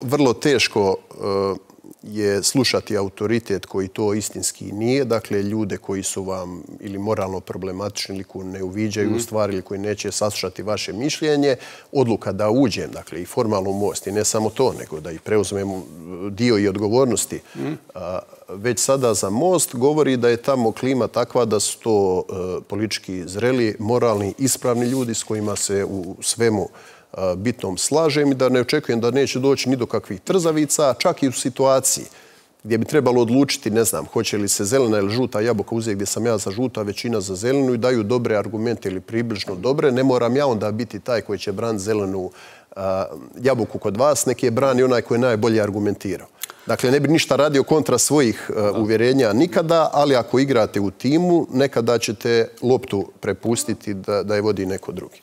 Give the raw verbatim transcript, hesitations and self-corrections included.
Vrlo teško je slušati autoritet koji to istinski nije. Dakle, ljude koji su vam ili moralno problematični ili koji ne uviđaju u stvari ili koji neće saslušati vaše mišljenje. Odluka da uđem, dakle, i formalno u Most i ne samo to, nego da i preuzmem dio i odgovornosti već sada za Most, govori da je tamo klima takva da su to politički zreli, moralni, ispravni ljudi s kojima se u svemu bitnom slažem i da ne očekujem da neće doći ni do kakvih trzavica, čak i u situaciji gdje bi trebalo odlučiti, ne znam, hoće li se zelena ili žuta jabuka uzeti gdje sam ja za žuta, većina za zelenu i daju dobre argumente ili približno dobre. Ne moram ja onda biti taj koji će braniti zelenu jabuku kod vas, neki je brani onaj koji je najbolje argumentirao. Dakle, ne bi ništa radio kontra svojih uvjerenja nikada, ali ako igrate u timu, nekada ćete loptu prepustiti da je vodi neko drugi.